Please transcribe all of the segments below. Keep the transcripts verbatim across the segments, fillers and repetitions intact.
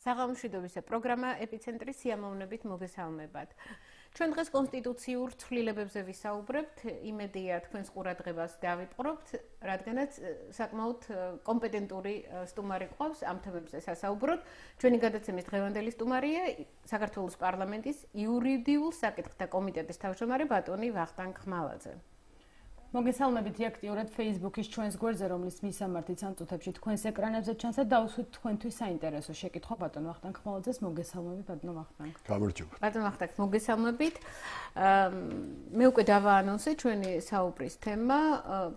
საღამოშვიდობისა პროგრამა ეპიცენტრი სიამოვნებით მოგესალმებათ. ჩვენ დღეს კონსტიტუციურ ცვლილებებზე ვისაუბრებთ, იმედია თქვენს ყურადღებას დავიპყრობთ, რადგანაც საკმაოდ კომპეტენტური სტუმარი ყავს ამ თემებზე სასაუბროთ. ჩვენი გადაცემის დღევანდელი სტუმარია საქართველოს პარლამენტის იურიდიულ საკითხთა კომიტეტის თავმჯდომარე ბატონი ვახტანგ ხმალაძე. მოგესალმებით აქტიურად Facebook-ის ჩვენს გვერდზე, რომლის მისამართიც ამ წუთებში თქვენს ეკრანებზე ჩანს და დავუსვით თქვენთვის საინტერესო შეკითხვა ბატონ ვახტანგ ხმალაძეს. მოგესალმებით ბატონ ვახტანგ. გამარჯობა. ბატონ ვახტანგ, მოგესალმებით. მე უკვე დავაანონსე ჩვენი საუბრის თემა.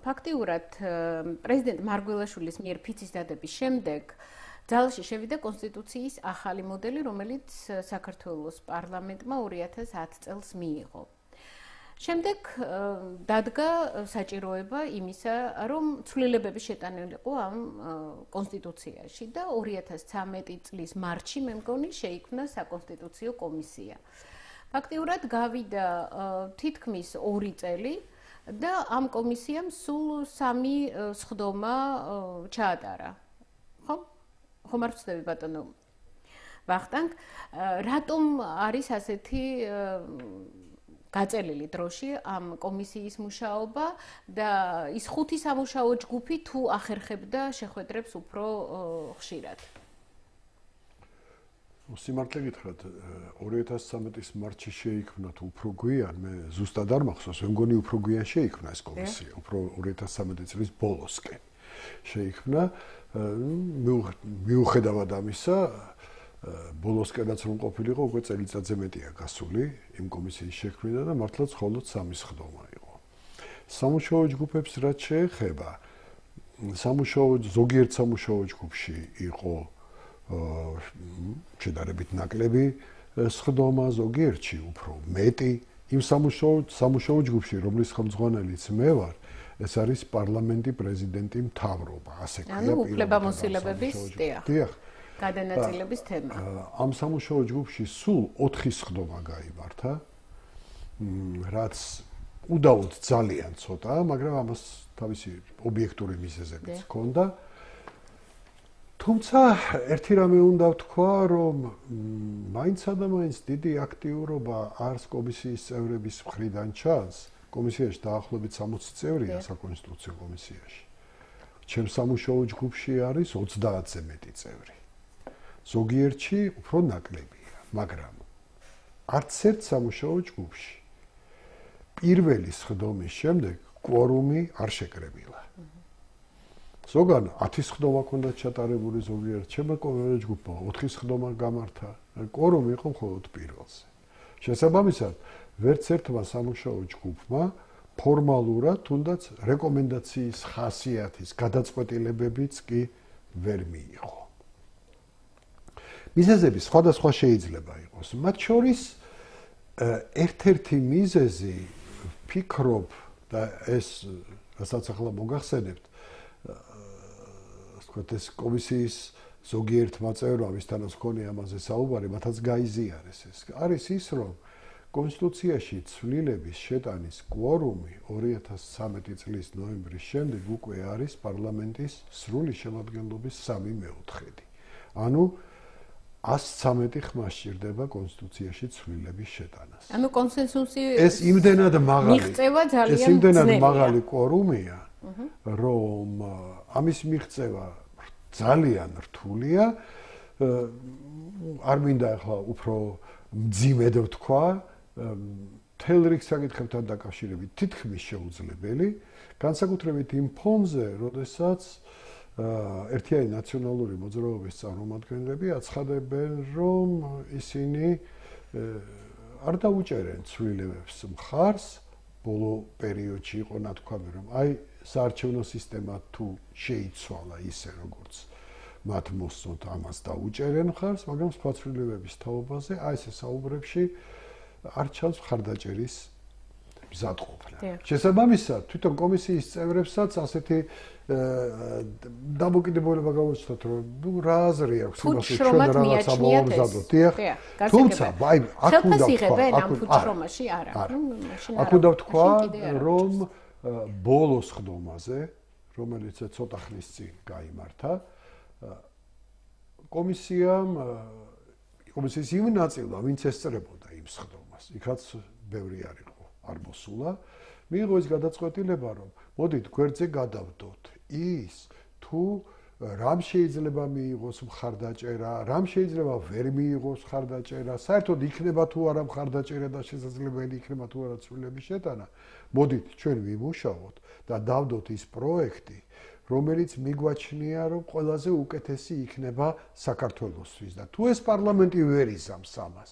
ფაქტიურად პრეზიდენტ მარგველაშვილის მიერ ფიცის დადების შემდეგ ძალაში შევიდა კონსტიტუციის ახალი მოდელი, რომელიც საქართველოს პარლამენტმა ორი ათას ათი წელს მიიღო. შემდეგ დადგა საჭიროება იმისა, რომ ცვლილებები შეტანილიყო ამ კონსტიტუციაში და ორი ათას ცამეტი წლის მარტში მე მგონი შეიქმნა საკონსტიტუციო კომისია. ფაქტიურად გავიდა თითქმის ორი წელი და ამ კომისიამ სულ სამი სხდომა ჩაატარა. ხო? ხომ არ ვწდები ბატონო ვახტანგ, რატომ არის ასეთი გაწელილი დროში ამ კომისიის მუშაობა და ის ხუთი სამუშაო ჯგუფი თუ ახერხებდა შეხვედრებს უფრო ხშირად? სიმართლე გითხრათ, ორი ათას ცამეტის მარტში შეიქმნა თუ უფრო გვიან, მე ზუსტად არ მახსოვს, მე მგონი უფრო გვიან შეიქმნა ეს კომისია, უფრო ორი ათას ცამეტი წლის ბოლოსკენ შეიქმნა. მიუხედავად ამისა, ბოლოსკენაც რომ ყოფილიყო, უკვე წელიწადზე მეტია გასული იმ კომისიის შექმნა და მართლაც მხოლოდ სამი სხდომა იყო. სამუშაო ჯგუფებს რაც შეეხება, სამუშაო ზოგიერთ სამუშაო ჯგუფში იყო შედარებით ნაკლები სხდომა, ზოგიერთში უფრო მეტი. იმ სამუშაო სამუშაო ჯგუფში, რომლის ხელმძღვანელიც მე ვარ, ეს არის პარლამენტი, პრეზიდენტი, მთავრობა, ასე ქვია. ანუ უფლებამოსილებების დიახ. გადანაწილების თემა. ამ სამუშაო ჯგუფში სულ ოთხი სხდომა გაიმართა, რაც უდაოდ ძალიან ცოტა, მაგრამ ამას თავისი ობიექტური მიზეზებიც ჰქონდა. თუმცა ერთი რამე უნდა ვთქვა, რომ მაინცსა და მაინც დიდი აქტიურობა არს კომისიის წევრების მხრიდან ჩანს. კომისიაში დაახლოებით სამოცი წევრია საკონსტიტუციო კომისიაში. ჩემს სამუშაო ჯგუფში არის ოცდაათზე მეტი წევრი. ზოგიერთში უფრო ნაკლებია, მაგრამ არც ერთ სამუშაო ჯგუფში პირველი სხდომის შემდეგ კვორუმი არ შეკრებილა. ზოგან ათი სხდომა ჰქონდა ჩატარებული, ზოგიერთ ჩემო ჯგუფმა ოთხი სხდომა გამართა, კვორუმი იყო მხოლოდ პირველზე. შესაბამისად, ვერც ერთმა სამუშაო ჯგუფმა ფორმალურად თუნდაც რეკომენდაციის ხასიათის გადაწყვეტილებებიც კი ვერ მიიღო. მიზეზები სხვადასხვა შეიძლება იყოს. მათ შორის ერთ-ერთი მიზეზი ვფიქრობ და ეს რასაც ახლა მოგახსენებთ, თქვათ ეს კომისიის ზოგიერთმა წევრმა, ვისთანაც მქონია ამაზე საუბარი, მათაც გაიზიარეს ეს. არის ის, რომ კონსტიტუციაში ცვლილების შეტანის კვორუმი ორი ათას ცამეტი წლის ნოემბრის შემდეგ უკვე არის პარლამენტის სრული შემადგენლობის სამი მეოთხედი. ანუ ას ცამეტი ხმა სჭირდება კონსტიტუციაში ცვლილების შეტანას. ანუ კონსენსუსი ეს იმდენად მაღალი მიღწევა ძალიან ეს იმდენად მაღალი კვორუმია, რომ ამის მიღწევა ძალიან რთულია. არ მინდა ახლა უფრო მძიმედ ვთქვა, მთელ რიგ საკითხებთან დაკავშირებით თითქმის შეუძლებელი, განსაკუთრებით იმ ფონზე, როდესაც ერთიანი ნაციონალური მოძრაობის წარმომადგენლები აცხადებენ, რომ ისინი არ დაუჭერენ ცვლილებებს მხარს. ბოლო პერიოდში იყო ნათქვამი, რომ აი საარჩევნო სისტემა თუ შეიცვალა ისე, როგორც მათ მოსწონთ, ამას დაუჭერენ მხარს, მაგრამ სხვა ცვლილებების თაობაზე აი ეს საუბრებში არ ჩანს მხარდაჭერის მზადყოფნა. შესაბამისად, თვითონ კომისიის წევრებსაც ასეთი დამოკიდებულება გამოჩნდათ, რომ ნუ რა აზრი აქვს იმაში, ჩვენ რაღაცა მოვამზადოთ. დიახ. თუმცა, აი, აქ უნდა ვთქვა, აქ უნდა ვთქვა, რომ ბოლო სხდომაზე, რომელიც ცოტა ხნის წინ გაიმართა, კომისიამ კომისიის იმ ნაწილმა, ვინც ესწრებოდა იმ სხდომას, იქაც ბევრი არ იყო, არ მოსულა. მიიღო ის გადაწყვეტილება, რომ მოდით გვერდზე გადავდოთ ის თუ რამ შეიძლება მიიღოს მხარდაჭერა, რამ შეიძლება ვერ მიიღოს მხარდაჭერა, საერთოდ იქნება თუ არა მხარდაჭერა და შესაძლებელი იქნება თუ არა ცვლილების შეტანა. მოდით ჩვენ ვიმუშაოთ და დავდოთ ის პროექტი, რომელიც მიგვაჩნია, რომ ყველაზე უკეთესი იქნება საქართველოსთვის და თუ ეს პარლამენტი ვერ იზამს ამას.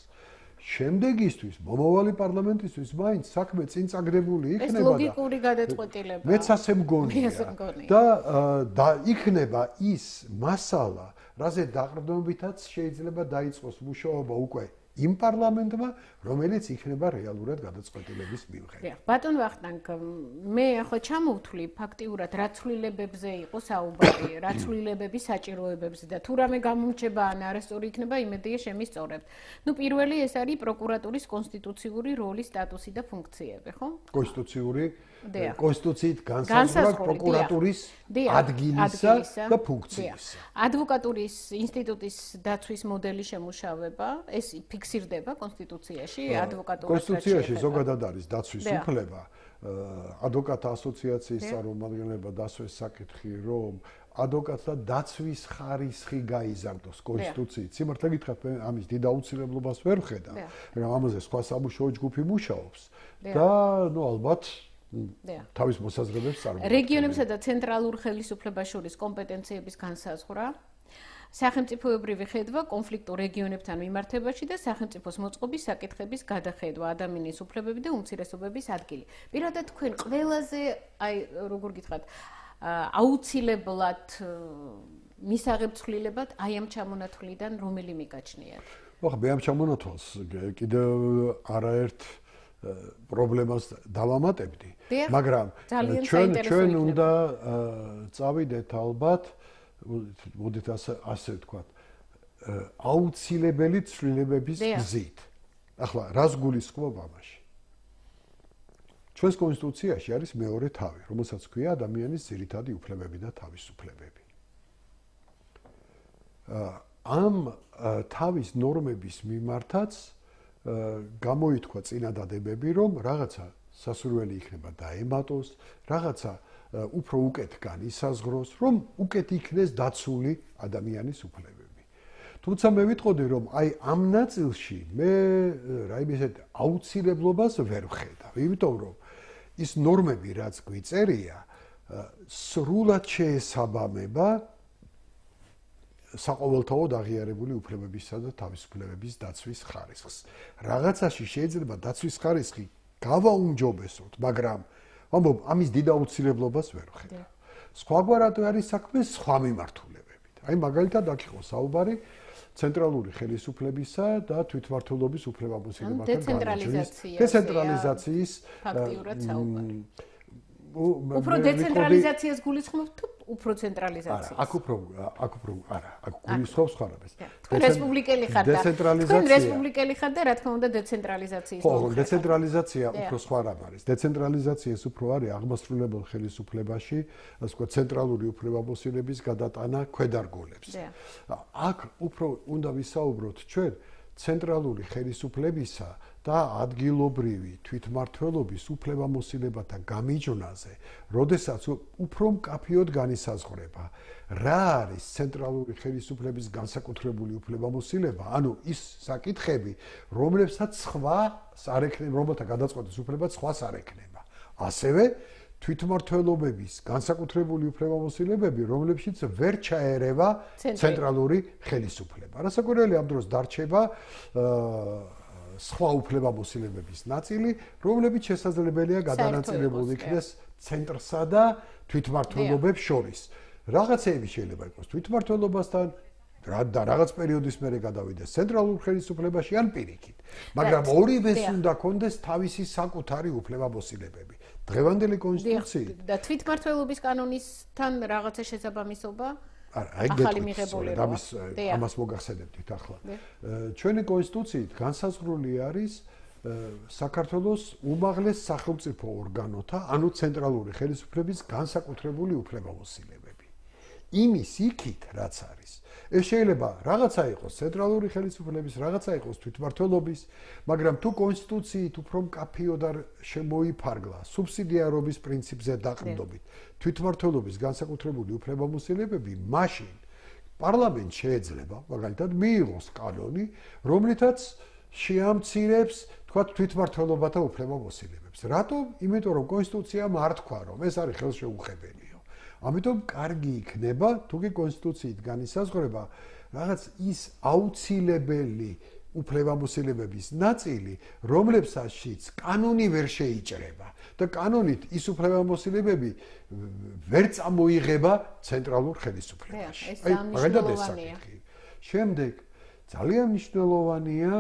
შემდეგისთვის, მომავალი პარლამენტისთვის მაინც საქმე წინ წაგდებული იქნება და ეს ლოგიკური გადაწყვეტილება. მეც ასე მგონია. და და იქნება ის მასალა, რაზე დაყრდნობითაც შეიძლება დაიწყოს მუშაობა უკვე იმ პარლამენტმა, რომელიც იქნება რეალურად გადაწყვეტილების მიღება. ბატონ ვახტანგ, მე ახლა ჩამოვთვლი ფაქტიურად რა ცვლილებებზე იყო საუბარი, რა ცვლილებების საჭიროებებზე და თუ რამე გამომრჩება ან არასწორი იქნება, იმედია შემისწორებთ. ნუ პირველი ეს არის პროკურატურის კონსტიტუციური როლი, სტატუსი და ფუნქციები, ხო? კონსტიტუციური კონსტიტუციით განსაზღვრა პროკურატურის ადგილისა და ფუნქციისა. ადვოკატურის ინსტიტუტის დაცვის მოდელი შემუშავება, ეს ფიქსირდება კონსტიტუციაში, ადვოკატურას კონსტიტუციაში ზოგადად არის დაცვის უფლება. ადვოკატთა ასოციაციის წარმომადგენლობა დასვეს საკითხი, რომ ადვოკატთა დაცვის ხარისხი გაიზარდოს კონსტიტუციით. სიმართლე გითხრათ, ამის დიდ აუცილებლობას ვერ ვხედავ, მაგრამ ამაზე სხვა სამუშაო ჯგუფი მუშაობს და ნუ ალბათ თავის მოსაზრებებს წარმოადგენს. რეგიონებსა და ცენტრალურ ხელისუფლებას შორის კომპეტენციების განსაზღვრა, სახელმწიფოებრივი ხედვა კონფლიქტურ რეგიონებთან მიმართებაში და სახელმწიფოს მოწყობის საკითხების გადახედვა, ადამიანის უფლებები და უმცირესობების ადგილი. პირადად თქვენ ყველაზე, აი როგორ გითხრათ, აუცილებლად მისაღებ ცვლილებად აი ამ ჩამონათვლიდან რომელი მიგაჩნიათ? ხო, მე ამ ჩამონათვალს კიდევ არაერთ პრობლემას დავამატებდი, მაგრამ ჩვენ ჩვენ უნდა წავიდეთ ალბათ, მოდით ასე ასე ვთქვათ, აუცილებელი ცვლილებების გზით. ახლა რას გულისხმობ ამაში? ჩვენს კონსტიტუციაში არის მეორე თავი, რომელსაც ქვია ადამიანის ძირითადი უფლებები და თავისუფლებები. ამ თავის ნორმების მიმართაც გამოითქვა წინადადებები, რომ რაღაცა სასურველი იქნება დაემატოს, რაღაცა უფრო უკეთ განისაზღვროს, რომ უკეთ იქნეს დაცული ადამიანის უფლებები. თუმცა მე ვიტყოდი, რომ აი ამ ნაწილში მე რაიმე ისეთ აუცილებლობას ვერ ვხედავ, იმიტომ რომ ის ნორმები, რაც გვიწერია, სრულად შეესაბამება საყოველთაოდ აღიარებული უფლებებისა და თავისუფლებების დაცვის ხარისხს. რაღაცაში შეიძლება დაცვის ხარისხი გავაუმჯობესოთ, მაგრამ ამბობ, ამის დიდ აუცილებლობას ვერ ვხედავ. სხვაგვარად არის საქმე სხვა მიმართულებებით. აი მაგალითად აქ იყო საუბარი ცენტრალური ხელისუფლებისა და თვითმმართველობის უფლებამოსილებათა განაჩენის დეცენტრალიზაციის ფაქტიურად საუბარი. უფრო დეცენტრალიზაციას გულისხმობთ თუ უფრო ცენტრალიზაციას? არა, აქ უფრო აქ უფრო არა, აქ გულისხმობს ხარაბეს. თქვენ რესპუბლიკელი ხართ და თქვენ რესპუბლიკელი ხართ და რა თქმა უნდა დეცენტრალიზაციის ხო, დეცენტრალიზაცია უფრო სხვა რამ არის. დეცენტრალიზაცია ის უფრო არის აღმასრულებელ ხელისუფლებაში, ასე ვთქვათ, ცენტრალური უფლებამოსილების გადატანა ქვედარგოლებს. აქ უფრო უნდა ვისაუბროთ ჩვენ ცენტრალური ხელისუფლებისა და ადგილობრივი თვითმმართველობის უფლებამოსილებათა გამიჯვნაზე, როდესაც უფრო მკაფიოდ განისაზღვრება, რა არის ცენტრალური ხელისუფლების განსაკუთრებული უფლებამოსილება, ანუ ის საკითხები, რომლებსაც სხვა არ ექნება, რომელთა გადაწყვეტის უფლებაც სხვას არ ექნება. ასევე თვითმმართველობების განსაკუთრებული უფლებამოსილებები, რომლებშიც ვერ ჩაერევა ცენტრალური ხელისუფლება. რასაკვირველია, ამ დროს დარჩება სხვა უფლებამოსილებების ნაწილი, რომლებიც შესაძლებელია გადანაწილებული იქნეს ცენტრსა და თვითმმართველობებს შორის. რაღაცეები შეიძლება იყოს თვითმმართველობასთან და რაღაც პერიოდის მერე გადავიდეს ცენტრალურ ხელისუფლებაში ან პირიქით. მაგრამ ორივეს უნდა კონდეს თავისი საკუთარი უფლებამოსილებები. დღევანდელი კონსტიტუციით და თვითმმართველობის კანონისთან რაღაცა შესაბამისობა არა, აი გეტყვით, ამის ამას მოგახსენებდით ახლა. ჩვენი კონსტიტუციით განსაზღვრული არის საქართველოს უმაღლეს სახელმწიფო ორგანოთა, ანუ ცენტრალური ხელისუფლების განსაკუთრებული უფლებამოსილებები. იმის იქით რაც არის. ეს შეიძლება რაღაცა იყოს ცენტრალური ხელისუფლების, რაღაცა იყოს თვითმმართველობის, მაგრამ თუ კონსტიტუციით უფრო მკაფიოდ არ შემოიფარგლა სუბსიდიარობის პრინციპზე დაყრდნობით თვითმმართველობის განსაკუთრებული უფლებამოსილებები, მაშინ პარლამენტ შეიძლება მაგალითად მიიღოს კანონი, რომლითაც შეამცირებს თქვათ თვითმმართველობათა უფლებამოსილებებს. რატომ? იმიტომ რომ კონსტიტუციამ არ თქვა რომ ეს არის ხელშეუხებელია. ამიტომ კარგი იქნება თუ კი კონსტიტუციით განისაზღვრება რაღაც ის აუცილებელი უფლებამოსილებების ნაწილი, რომლებსაც კანონი ვერ შეიჭრება და კანონით ის უფლებამოსილებები ვერ წამოიღება ცენტრალურ ხელისუფლებაში. აი, მაგალითად ეს საკითხი. შემდეგ ძალიან მნიშვნელოვანია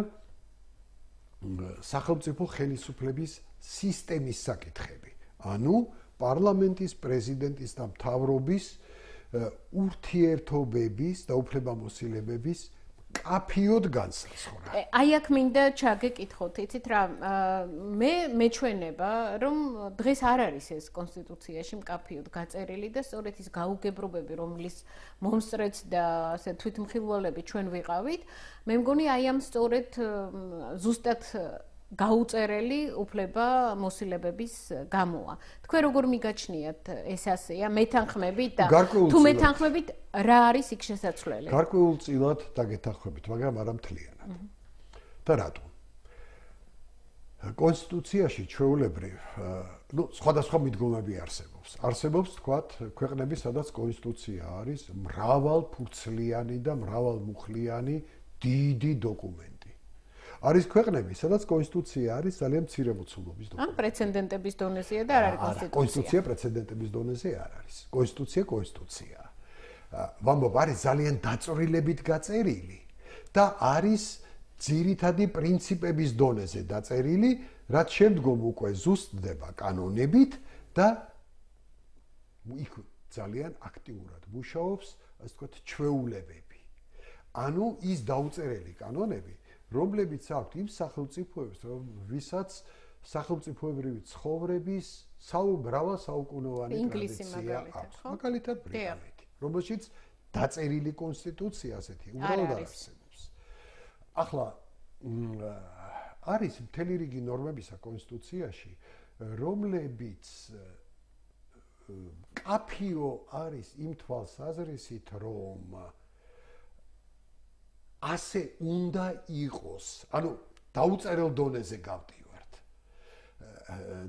სახელმწიფო ხელისუფლების სისტემის საკითხები. ანუ პარლამენტის, პრეზიდენტის და მთავრობის ურთიერთობების და უფლებამოსილებების კაფიოდ განსაზღვრა. აი აქ მინდა ჩაგეკითხოთ, იცით რა, მე მეჩვენება, რომ დღეს არ არის ეს კონსტიტუციაში მკაფიოდ გაწერილი და სწორედ ის გაუგებრობები, რომლის მომსწრეც და ასე თვითმხილველები ჩვენ ვიყავით, მე მგონი აი ამ სწორედ ზუსტად გაუწერელი უფლება მოსილებების გამოა. თქვენ როგორ მიგაჩნიათ ეს ასეა, მეთანხმებით და თუ მეთანხმებით რა არის იქ შესაძლებელი? გარკვეულწილად დაგეთანხმებით, მაგრამ არა მთლიანად. და რატომ? კონსტიტუციაში ჩვეულებრივ, ну, სხვადასხვა მიდგომები არსებობს. არსებობს, თქვათ, ქვეყნები, სადაც კონსტიტუცია არის მრავალფურცლიანი და მრავალმუხლიანი დიდი დოკუმენტი. არის ქვეყნები, სადაც კონსტიტუცია არის ძალიან მცირე მოცულობის დოკუმენტი. ან პრეცედენტების დონეზეა და არ არის კონსტიტუცია. კონსტიტუცია პრეცედენტების დონეზე არ არის. კონსტიტუცია კონსტიტუცია. ვამბობ, არის ძალიან დაწვრილებით გაწერილი და არის ძირითადი პრინციპების დონეზე დაწერილი, რაც შემდგომ უკვე ზუსტდება კანონებით და იქ ძალიან აქტიურად მუშაობს, ასე ვთქვათ, ჩვეულებები. ანუ ის დაუწერელი კანონები, რომლებიც აქვთ იმ სახელმწიფოებს, ვისაც სახელმწიფოებრივი ცხოვრების საუბრავა საუკუნოვანი ტრადიცია აქვს. მაგალითად ბრიტანეთი, რომელშიც დაწერილი კონსტიტუცია ასეთი უბრალოდ არსებობს. ახლა არის მთელი რიგი ნორმებისა კონსტიტუციაში, რომლებიც კაფიო არის იმ თვალსაზრისით, რომ ასე უნდა იყოს. ანუ დაუწერელ დონეზე გავდივართ.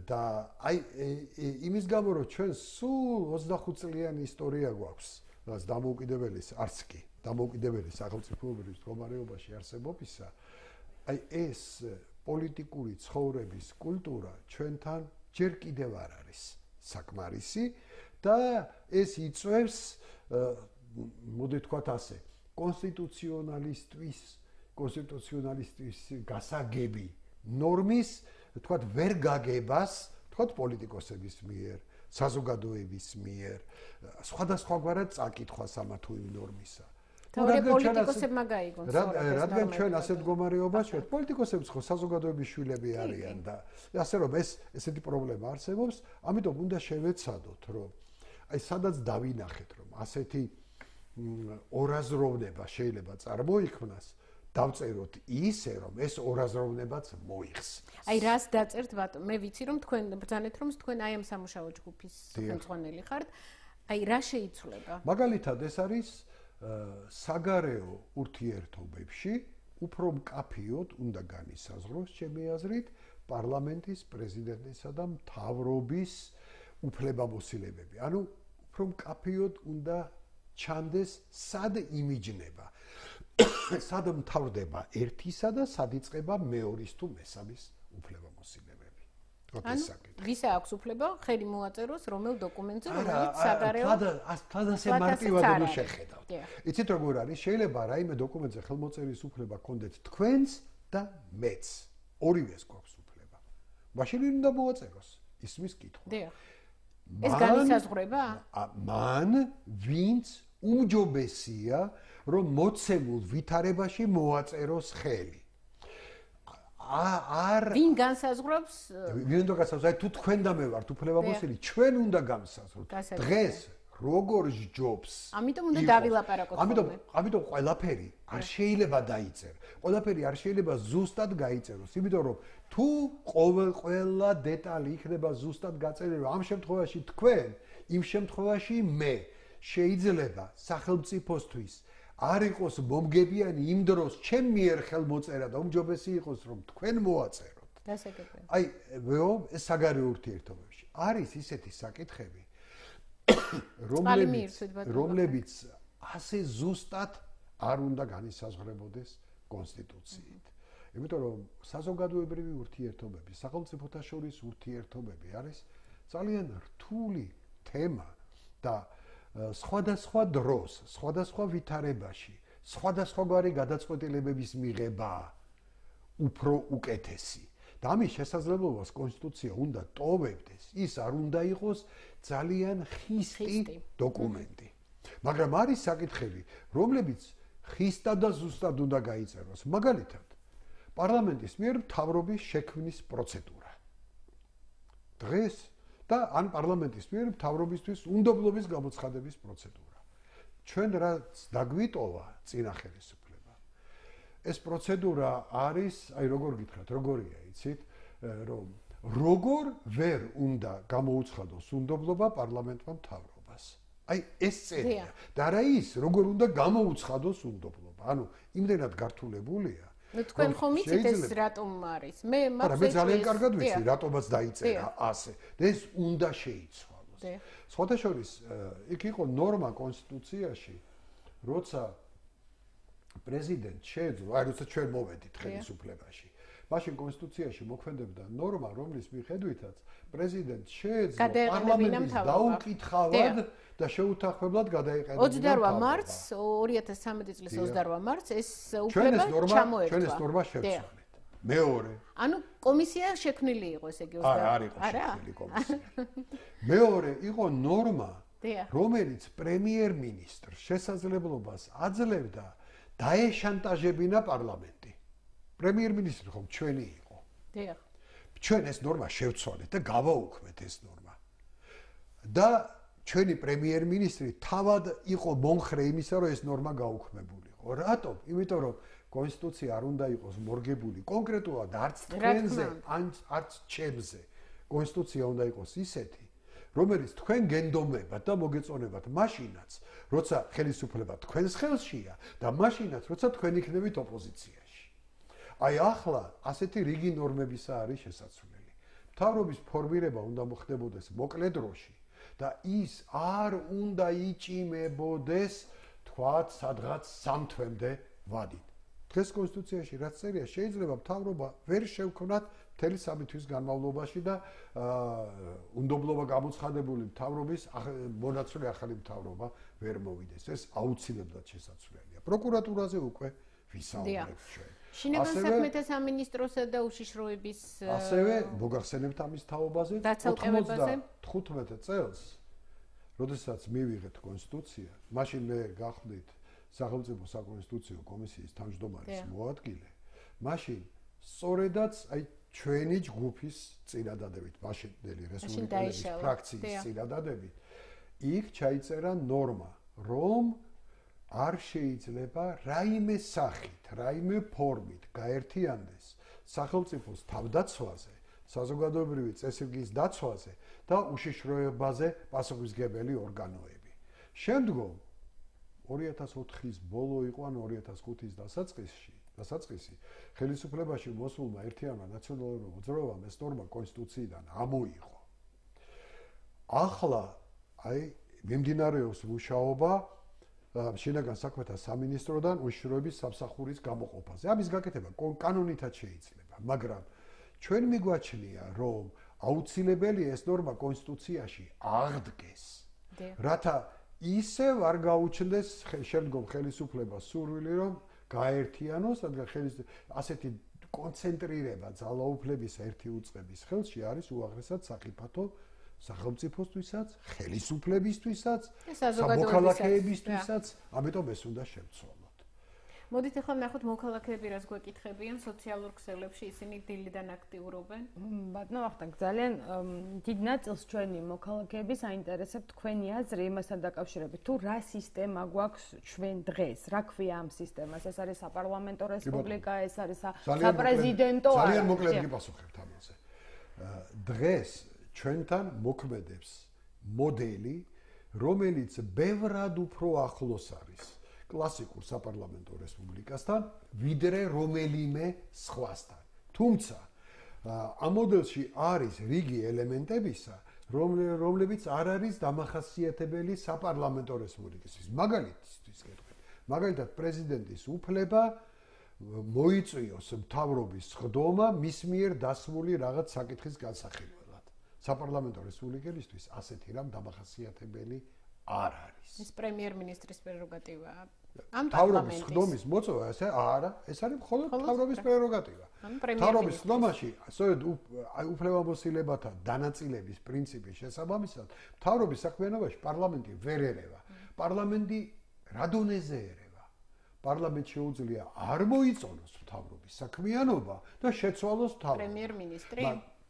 და აი იმის გამო რომ ჩვენ სულ ოცდახუთ წლიანი ისტორია გვაქვს, რაც დამოუკიდებელი არც კი დამოუკიდებელი სახელმწიფოებრივ მდგომარეობაში არსებობისა, აი ეს პოლიტიკური ცხოვრების კულტურა ჩვენთან ჯერ კიდევ არ არის საკმარისი და ეს იწვევს, მოდი ვთქვათ ასე, კონსტიტუციონალისტვის კონსტიტუციონალისტვის გასაგები ნორმის, თქვათ, ვერ გაგებას, თქვათ, პოლიტიკოსების მიერ, საზოგადოების მიერ, სხვადასხვაგვარად წაკითხვას ამა თუ იმ ნორმისა. თორე პოლიტიკოსებმა გაიგონ სწორად ეს ნორმა. რადგან ჩვენ ასეთ მდგომარეობაში ვართ, პოლიტიკოსებიც ხო საზოგადოების შვილები არიან და ასე რომ ეს ესეთი პრობლემა არსებობს, ამიტომ უნდა შევეცადოთ, რომ აი სადაც დავინახეთ, რომ ასეთი ორაზროვნება შეიძლება წარმოიქმნას, დავწეროთ ისე, რომ ეს ორაზროვნებაც მოიხს. აი რას დაწერთ, ბატონო? მე ვიცი, რომ თქვენ ბრძანეთ, რომ თქვენ აი ამ სამუშაო ჯგუფის ხელმძღვანელი ხართ. აი რა შეიცვლება? მაგალითად, ეს არის საგარეო ურთიერთობებში უფრო მკაფიოდ უნდა განისაზღვროს, ჩემი აზრით, პარლამენტის, პრეზიდენტისა და მთავრობის უფლებამოსილებები. ანუ უფრო მკაფიოდ უნდა ჩანდეს სად იმიჯნება, სად მთავრდება ერთისა და სად იწყება მეორის თუ მესამის უფლებამოსილებები. ანუ ვის აქვს უფლება ხელი მოაწეროს რომელ დოკუმენტზე, რომელიც საგარეო თადასე მარტივად უნდა შეხედავთ. იცით როგორ არის? შეიძლება რაიმე დოკუმენტზე ხელმოწერის უფლება გქონდეთ თქვენს და მეც. ორივეს გვაქვს უფლება. მაშინ უნდა მოაწეროს ისმის კითხვა. ეს განისაზღვრება? მან ვინც უმჯობესია, რომ მოცემულ ვითარებაში მოაწეროს ხელი. არ ვინ განსაზღვრობს? ვინ უნდა განსაზღვროს? აი თუ თქვენ და მე ვართ უფლებამოსილი, ჩვენ უნდა განსაზღვროთ. დღეს როგორ ჯობს. ამიტომ უნდა დავილაპარაკოთ. ამიტომ, ამიტომ ყველაფერი არ შეიძლება დაიწერო. ყველაფერი არ შეიძლება ზუსტად გაიწეროს, იმიტომ რომ თუ ყველა დეტალი იქნება ზუსტად გაწერილი, ამ შემთხვევაში თქვენ, იმ შემთხვევაში მე შეიძლება სახელმწიფოსთვის არ იყოს მომგებიანი იმ დროს ჩემ მიერ ხელმოწერა და უმჯობესი იყოს რომ თქვენ მოაწეროთ. დასაგებია. აი, ვეო, ეს საგარეო ურთიერთობებში არის ისეთი საკითხები, რომლებიც რომლებიც ასე ზუსტად არ უნდა განისაზღვრებოდეს კონსტიტუციით. იმიტომ რომ საზოგადოებრივი ურთიერთობები, სახელმწიფოთა შორის ურთიერთობები არის ძალიან რთული თემა და სხვადასხვა დროს, სხვადასხვა ვითარებაში, სხვადასხვაგვარი გადაწყვეტილებების მიღება უფრო უკეთესი. და ამის შესაძლებლობას კონსტიტუცია უნდა ტოვებდეს, ის არ უნდა იყოს ძალიან ხისტი დოკუმენტი. მაგრამ არის საკითხები, რომლებიც ხისტად და ზუსტად უნდა გაიწეროს. მაგალითად, პარლამენტის მიერ მთავრობის შექმნის პროცედურა. დღეს და ან პარლამენტის მიერ მთავრობისთვის უნდობლობის გამოცხადების პროცედურა. ჩვენ რაც დაგვიტოვა წინა ხელისუფლება. ეს პროცედურა არის, აი როგორ გითხრათ, როგორია, იცით, რომ როგორ ვერ უნდა გამოუცხადოს უნდობლობა პარლამენტმა მთავრობას. აი ეს წერია. და რა ის, როგორ უნდა გამოუცხადოს უნდობლობა. ანუ იმდენად გართულებულია. ნუ თქვენ ხომ იცით ეს რატომ არის? მე მაგ მე ძალიან კარგად ვიცი, რატომაც დაიწერა ასე. და ეს უნდა შეიცვალოს. სხვათა შორის, იქ იყო ნორმა კონსტიტუციაში, როცა პრეზიდენტ შეეძლო, აი როცა ჩვენ მოვედით ხელისუფლებაში. მაშინ კონსტიტუციაში მოქმედებდა ნორმა, რომლის მიხედვითაც პრეზიდენტს შეეძლო პარლამენტის დაუკითხავად და შეუთანხმებლად გადაეყენება ოცდაორ მარტს ორი ათას ცხრამეტი წლის ოცდაორ მარტს ეს უფლება ჩამოერთვა. ჩვენ ეს ნორმა შევცვალეთ. მეორე. ანუ კომისია შექმნილი იყო ესე იგი ოცდაორ. არა, არ იყო შექმნილი კომისია. მეორე იყო ნორმა, რომელიც პრემიერ-მინისტრს შესაძლებლობას აძლევდა დაეშანტაჟებინა პარლამენტი. პრემიერ-მინისტრი ხომ ჩვენი იყო. დიახ. ჩვენ ეს ნორმა შევცვალეთ და გავაუქმეთ ეს ნორმა. და ჩვენი პრემიერ-მინისტრი თავად იყო მომხრე იმისა, რომ ეს ნორმა გაუქმებულიყო. რატომ? იმიტომ რომ კონსტიტუცია არ უნდა იყოს მორგებული კონკრეტულად არც თქვენზე, არც ჩემზე. კონსტიტუცია უნდა იყოს ისეთი, რომელიც თქვენ გენდომებათ და მოგეწონებათ მაშინაც, როცა ხელისუფლება თქვენს ხელშია და მაშინაც, როცა თქვენ იქნებით ოპოზიციაში. აი ახლა ასეთი რიგი ნორმებისა არის შესაძლებელი. მთავრობის ფორმირება უნდა მოხდებოდეს მოკლე დროში და ის არ უნდა იჭიმებოდეს თქვათ სადღაც სამ თვემდე ვადით. დღეს კონსტიტუციაში რაც წერია, შეიძლება მთავრობა ვერ შევქმნათ მთელი სამი თვის განმავლობაში და უნდობლობა გამოცხადებული მთავრობის მონაცვლე ახალი მთავრობა ვერ მოვიდეს. ეს აუცილებლად შესაძლებელია. პროკურატურაზე უკვე ვისაუბრებთ ჩვენ. შინაგან საქმეთა სამინისტროსა და უშიშროების ასევე მოგახსენებთ ამის თაობაზე თხუთმეტ წელს, როდესაც მივიღეთ კონსტიტუცია, მაშინ მე გახდით სახელმწიფო საკონსტიტუციო კომისიის თავმჯდომარის მოადგილე, მაშინ სწორედაც აი ჩვენი ჯგუფის წინადადებით, მაშინდელი რესპუბლიკელების ფრაქციის წინადადებით, იქ ჩაიწერა ნორმა, რომ არ შეიძლება რაიმე სახით, რაიმე ფორმით გაერთიანდეს სახელმწიფოს თავდაცვაზე, საზოგადოებრივი წესრიგის დაცვაზე და უშიშროებაზე პასუხისმგებელი ორგანოები. შემდგომ ორი ათას ოთხის ბოლო იყო ან ორი ათას ხუთის დასაწყისში, დასაწყისი ხელისუფლებაში მოსულმა ერთიანმა ნაციონალურმა მოძრაობამ ეს ნორმა კონსტიტუციიდან ამოიღო. ახლა აი მიმდინარეობს მუშაობა შინაგან საქმეთა სამინისტროდან უშიშროების სამსახურის გამოყოფაზე. ამის გაკეთება კანონითაც შეიძლება, მაგრამ ჩვენ მიგვაჩნია, რომ აუცილებელია ეს ნორმა კონსტიტუციაში აღდგეს, რათა ისევ არ გაუჩნდეს შემდგომ ხელისუფლებას სურვილი, რომ გაერთიანოს, რადგან ასეთი კონცენტრირება ძალაუფლების ერთი უწყების ხელში არის უაღრესად სახიფათო სახელმწიფოსთვისაც, ხელისუფლებისთვისაც, სამოქალაქეებისთვისაც, ამიტომ ეს უნდა შევცვალოთ. მოდით ახლა ნახოთ მოქალაქეები რას გვეკითხებიან სოციალურ ქსელებში, ისინი დილიდან აქტიურობენ. ბატონო ვახტანგ, ძალიან დიდ ნაწილს ჩვენი მოქალაქეები საინტერესებთ თქვენი აზრი იმასთან დაკავშირებით, თუ რა სისტემა გვაქვს ჩვენ დღეს, რა ქვია ამ სისტემას, ეს არის საპარლამენტო რესპუბლიკა, ეს არის საპრეზიდენტო. ძალიან მოკლედ გიპასუხებთ ამაზე. დღეს ჩვენთან მოქმედებს მოდელი, რომელიც ბევრად უფრო ახლოს არის კლასიკურ საპარლამენტო რესპუბლიკასთან, ვიდრე რომელიმე სხვასთან. თუმცა ამ მოდელში არის რიგი ელემენტებისა, რომლებიც არ არის დამახასიათებელი საპარლამენტო რესპუბლიკისთვის. მაგალითისთვის გეტყვით, მაგალითად პრეზიდენტის უფლება მოიწვიოს მთავრობის ხდომა მის მიერ დასმული რაღაც საკითხის განსახილველად. საპარლამენტო რესპუბლიკისთვის ასეთი რამ დამახასიათებელი არ არის. ეს პრემიერ-მინისტრის პრეროგატივაა. ამ მთავრობის ხდომის მოწვევა ესე არა, ეს არის მხოლოდ მთავრობის პრეროგატივა. მთავრობის ხდომაში, სწორედ უფლებამოსილებათა დანაწილების პრინციპის შესაბამისად, მთავრობის საქმიანობაში პარლამენტი ვერ ერევა. პარლამენტი რა დონეზე ერევა? პარლამენტს შეუძლია არ მოიწონოს მთავრობის საქმიანობა და შეცვალოს მთავრობა. პრემიერ-მინისტრი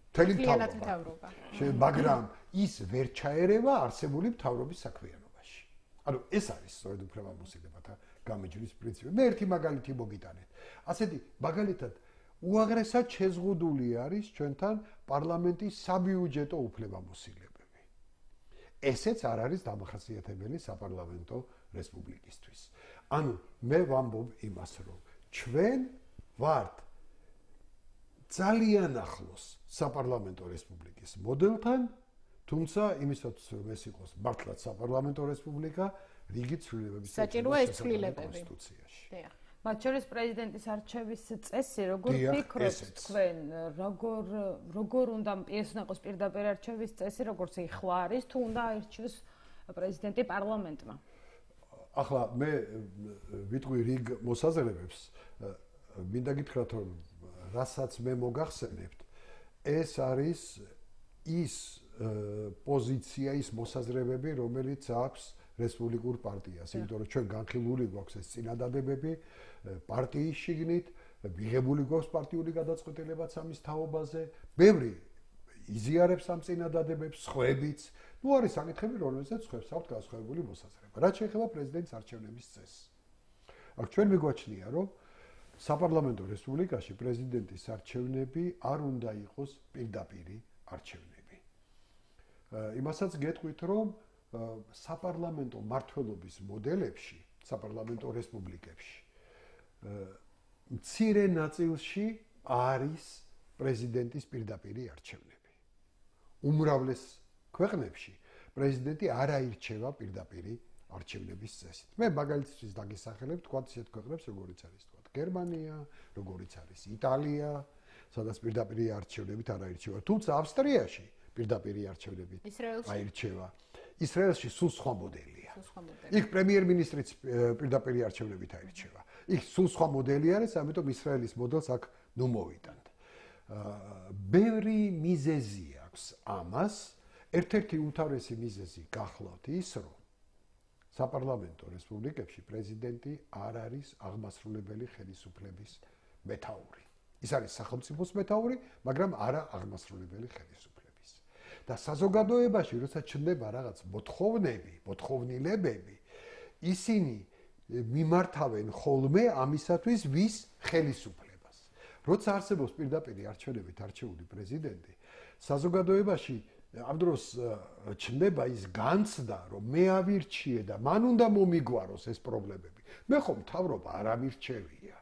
მთელი მთავრობა. მაგრამ ის ვერ ჩაერევა არსებული მთავრობის საქმიანობაში. ანუ ეს არის სწორედ უფლებამოსილებათა გამეჯვრის პრინციპი. მე ერთი მაგალითი მოგიტანეთ. ასეთი მაგალითად უაღრესად შეზღუდული არის ჩვენთან პარლამენტის საბიუჯეტო უფლებამოსილებები. ესეც არ არის დამახასიათებელი საპარლამენტო რესპუბლიკისთვის. ანუ მე ვამბობ იმას, რომ ჩვენ ვართ ძალიან ახლოს საპარლამენტო რესპუბლიკის მოდელთან, თუმცა იმისაც რომ ეს იყოს მართლაც საპარლამენტო რესპუბლიკა, რიგი ცვლილებების საჭიროა ეს ცვლილებები კონსტიტუციაში. დიახ. მათ შორის პრეზიდენტის არჩევის წესი, როგორ ფიქრობთ თქვენ, როგორ როგორ უნდა ეს უნდა იყოს პირდაპირ არჩევის წესი, როგორც ეხლა არის, თუ უნდა აირჩიოს პრეზიდენტი პარლამენტმა? ახლა მე ვიტყვი რიგ მოსაზრებებს, მინდა გითხრათ რომ რასაც მე მოგახსენებთ, ეს არის ის პოზიცია, ის მოსაზრებები, რომელიც აქვს რესპუბლიკურ პარტიას, იმიტომ რომ ჩვენ განხილული გვაქვს ეს წინადადებები პარტიის შიგნით, მიღებული გვაქვს პარტიული გადაწყვეტილებაც ამის თაობაზე, ბევრი იზიარებს ამ წინადადებებს, სხვებიც, ნუ არის საკითხები, რომელზეც სხვებს აქვთ განსხვავებული მოსაზრება. რაც შეეხება პრეზიდენტის არჩევნების წესს. აქ ჩვენ მიგვაჩნია, რომ საპარლამენტო რესპუბლიკაში პრეზიდენტის არჩევნები არ უნდა იყოს პირდაპირი არჩევნები. იმასაც გეტყვით, რომ საპარლამენტო მმართველობის მოდელებში, საპარლამენტო რესპუბლიკებში მცირე ნაწილში არის პრეზიდენტის პირდაპირი არჩევნები. უმრავლეს ქვეყნებში პრეზიდენტი არ აირჩევა პირდაპირი არჩევნების წესით. მე მაგალითისთვის დაგესახელებ თქვა ისეთ ქვეყნებს, როგორიც არის თქვა გერმანია, როგორიც არის იტალია, სადაც პირდაპირი არჩევნებით არ აირჩევა. თუმცა ავსტრიაში პირდაპირი არჩევნებით აირჩევა. ისრაელში სულ სხვა მოდელია. იქ პრემიერ-მინისტრიც პირდაპირი არჩევნებით აირჩევა. იქ სულ სხვა მოდელი არის, ამიტომ ისრაელის მოდელს აქ ნუ მოვიტანთ. ბევრი მიზეზი აქვს ამას. ერთ-ერთი უმთავრესი მიზეზი გახლავთ ის, რომ საპარლამენტო რესპუბლიკებში პრეზიდენტი არ არის აღმასრულებელი ხელისუფლების მეთაური. ის არის სახელმწიფოს მეთაური, მაგრამ არა აღმასრულებელი ხელისუფლების. და საზოგადოებაში, როცა ჩნდება რაღაც მოთხოვნები, მოთხოვნილებები, ისინი მიმართავენ ხოლმე ამისათვის ვის ხელისუფლებას. როცა არსებობს პირდაპირი არჩევნებით არჩეული პრეზიდენტი, საზოგადოებაში ამ დროს ჩნდება ის განცდა, რომ მე ავირჩიე და მან უნდა მომიგვაროს ეს პრობლემები. მე ხომ მთავრობა არ ამირჩევია.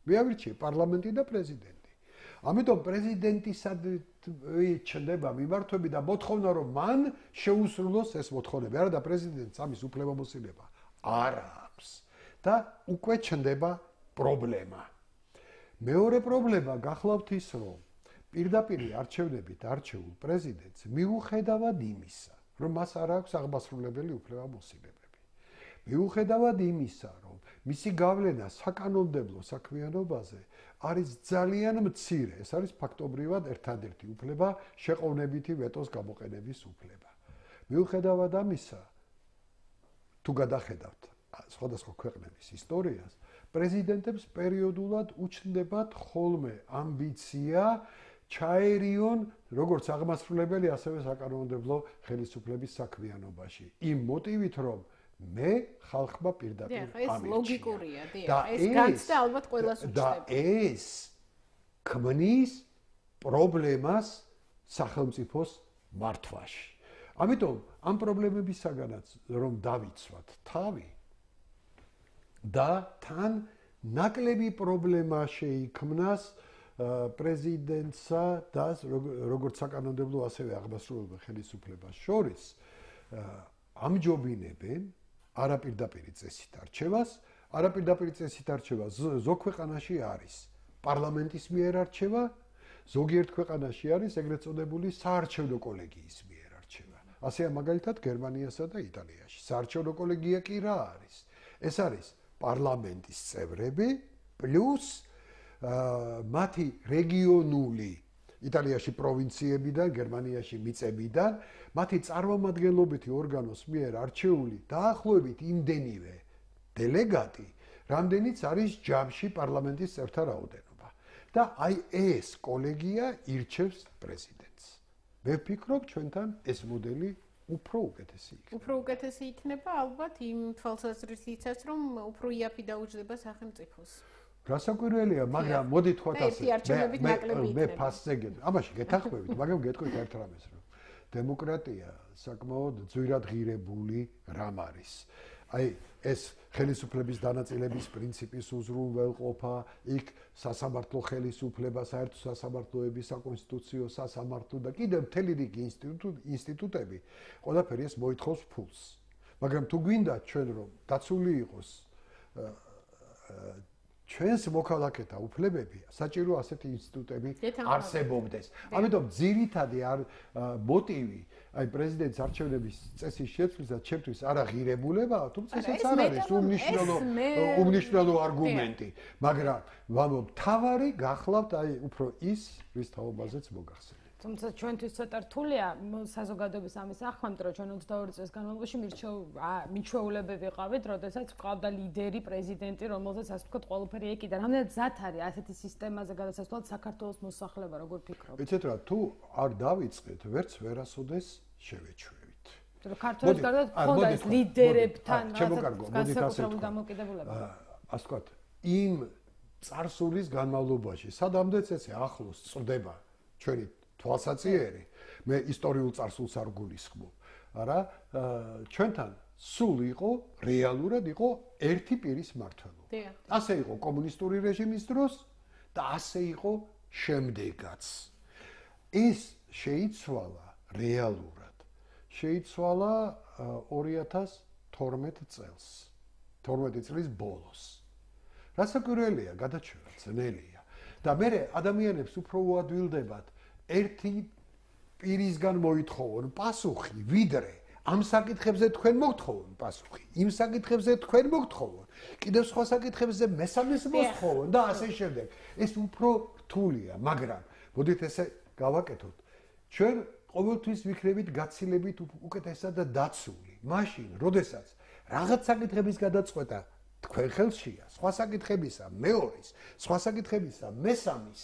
მე ავირჩიე პარლამენტი და პრეზიდენტი. ამიტომ პრეზიდენტისად ჩნდება მიმართვები და მოთხოვნა, რომ მან შეუსრულოს ეს მოთხოვნები. არა და პრეზიდენტს ამის უფლებამოსილება არ აქვს და უკვე ჩნდება პრობლემა. მეორე პრობლემა გახლავთ ის, რომ პირდაპირი არჩევნებით არჩეულ პრეზიდენტს მიუხედავად იმისა, რომ მას არ აქვს აღმასრულებელი უფლებამოსილებები. მიუხედავად იმისა, რომ მისი გავლენა საკანონმდებლო საქმიანობაზე არის ძალიან მცირე, ეს არის ფაქტობრივად ერთადერთი უფლება, შეყოვნებითი ვეტოს გამოყენების უფლება. მიუხედავად ამისა, თუ გადახედავთ სხვადასხვა ქვეყნების ისტორიას, პრეზიდენტებს პერიოდულად უჩნდებათ ხოლმე ამბიცია ჩაერიონ როგორც აღმასრულებელი, ასევე საკანონმდებლო ხელისუფლების საქმიანობაში. იმ მოტივით, რომ მე ხალხმა პირდაპირ ამირჩია. ეს ლოგიკურია, დიახ. ეს განცდა ალბათ ყველას უჩნდება. და ეს ქმნის პრობლემას სახელმწიფოს მართვაში. ამიტომ ამ პრობლემებისაგანაც რომ დავიცვათ თავი და თან ნაკლები პრობლემა შეიქმნას პრეზიდენტსა და როგორც საკანონმდებლო ასევე აღმასრულებელ ხელისუფლებას შორის ამჯობინებენ არაპირდაპირი წესით არჩევას, არაპირდაპირი წესით არჩევა ზოგ ქვეყანაში არის პარლამენტის მიერ არჩევა, ზოგიერთ ქვეყანაში არის ეგრეთ წოდებული საარჩევნო კოლეგიის მიერ არჩევა. ასეა მაგალითად გერმანიასა და იტალიაში. საარჩევნო კოლეგია კი რა არის? ეს არის პარლამენტის წევრები პლუს მათი რეგიონული იტალიაში პროვინციებიდან, გერმანიაში მიწებიდან, მათი წარმომადგენლობითი ორგანოს მიერ არჩეული დაახლოებით იმდენივე დელეგატი, რამდენიც არის ჯამში პარლამენტის წევრთა რაოდენობა. და აი ეს კოლეგია ირჩევს პრეზიდენტს. მე ვფიქრობ, ჩვენთან ეს მოდელი უფრო უკეთესი იქნება. უფრო უკეთესი იქნება ალბათ იმ თვალსაზრისითაც, რომ უფრო იაფი დაუჯდება სახელმწიფოს. რასაკვირველია, მაგრამ მოდით ვთქვათ ასე. მე მე ფასზე გეტყვი. ამაში გეთანხმებით, მაგრამ გეტყვით ერთ რამეს, რომ დემოკრატია საკმაოდ ძვირად ღირებული რამ არის. აი ეს ხელისუფლების დანაწილების პრინციპის უზრუნველყოფა, იქ სასამართლო ხელისუფლება, საერთო სასამართლოების საკონსტიტუციო სასამართლო და კიდევ მთელი რიგი ინსტიტუტები, ყველაფერი ეს მოითხოვს ფულს. მაგრამ თუ გვინდა ჩვენ რომ დაცული იყოს ჩვენს მოქალაქეთა უფლებები, საჭირო ასეთი ინსტიტუტები არსებობდეს. ამიტომ ძირითადი მოტივი აი პრეზიდენტის არჩევნების წესის შეცვლისას ჩემთვის არა ღირებულებაა, თუმცა ეს არ არის უმნიშვნელო უმნიშვნელო არგუმენტი, მაგრამ ვამბობ, თავარი გახლავთ აი უფრო ის, რის თაობაზეც მოგახსენეთ. თუმცა ჩვენთვის ცოტა რთულია საზოგადოების ამის ახმამდე, რომ ჩვენ ოცდაორი წლის განმავლობაში მიჩვეულებები ვიყავით, როდესაც გვყავდა ლიდერი, პრეზიდენტი, რომელზეც ასე ვთქვათ, ყველაფერი ეკიდა. რამდენად ზათ არის ასეთი სისტემაზე გადასასვლელად საქართველოს მოსახლეობა, როგორ ფიქრობთ? იცით რა, თუ არ დავიწყეთ, ვერც ვერასოდეს შევეჩვევით. ქართველებს გარდა ხონდა ეს ლიდერებთან განსაკუთრებული დამოკიდებულება. ასე ვთქვათ, იმ წარსულის განმავლობაში, სადამდეც ესე ახლოს წრდება ჩვენი თვალსაჩინო, მე ისტორიულ წარსულს არ გულისხმობ, არა, ჩვენთან სულ იყო, რეალურად იყო ერთი პირის მმართველობა. ასე იყო კომუნისტური რეჟიმის დროს და ასე იყო შემდეგაც. ეს შეიცვალა რეალურად. შეიცვალა ორი ათას თორმეტ წელს. თორმეტი წლის ბოლოს. რასაკვირველია, გადაჩვევა ძნელია. და მე ადამიანებს უფრო უადვილდებათ ერთი პირისგან მოითხოვონ პასუხი, ვიდრე ამ საკითხებზე თქვენ მოგთხოვონ პასუხი, იმ საკითხებზე თქვენ მოგთხოვონ, კიდევ სხვა საკითხებზე მესამეს მოსთხოვონ და ასე შემდეგ. ეს უფრო რთულია, მაგრამ მოდით ესე გავაკეთოთ. ჩვენ ყოველთვის ვიქნებით გაცილებით უკეთესად და დაცული. მაშინ, როდესაც რაღაც საკითხების გადაწყვეტა თქვენ ხელშია, სხვა საკითხებისა მეორის, სხვა საკითხებისა მესამის,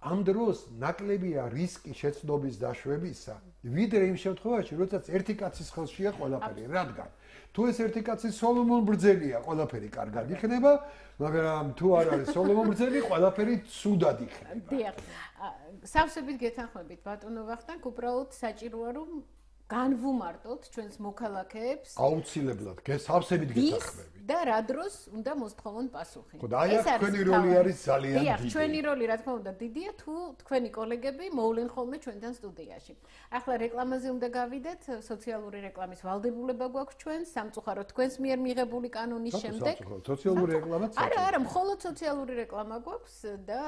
ამ დროს ნაკლებია რისკი შეცდომის დაშვებისა, ვიდრე იმ შემთხვევაში, როდესაც ერთი კაცის ხელშია ყველაფერი, რადგან თუ ეს ერთი კაცი სოლომონ ბრძენია, ყველაფერი კარგად იქნება, მაგრამ თუ არ არის სოლომონ ბრძენი, ყველაფერი ცუდად იქნება. დიახ. სავსებით გეთანხმებით, ბატონო ვახტანგ, უბრალოდ საჭიროა რომ განვუმარტოთ ჩვენს მოქალაქეებს აუცილებლად გესავსებით გეთანხმებით და რა დროს უნდა მოსთხოვონ პასუხი. ხო და აი აქ თქვენი როლი არის ძალიან დიდი. დიახ, ჩვენი როლი რა თქმა უნდა დიდია, თუ თქვენი კოლეგები მოვლენ ხოლმე ჩვენთან სტუდიაში. ახლა რეკლამაზე უნდა გავიდეთ, სოციალური რეკლამის ვალდებულება გვაქვს ჩვენ, სამწუხაროდ თქვენს მიერ მიღებული კანონის შემდეგ. სოციალური რეკლამაც არა, არა, მხოლოდ სოციალური რეკლამა გვაქვს და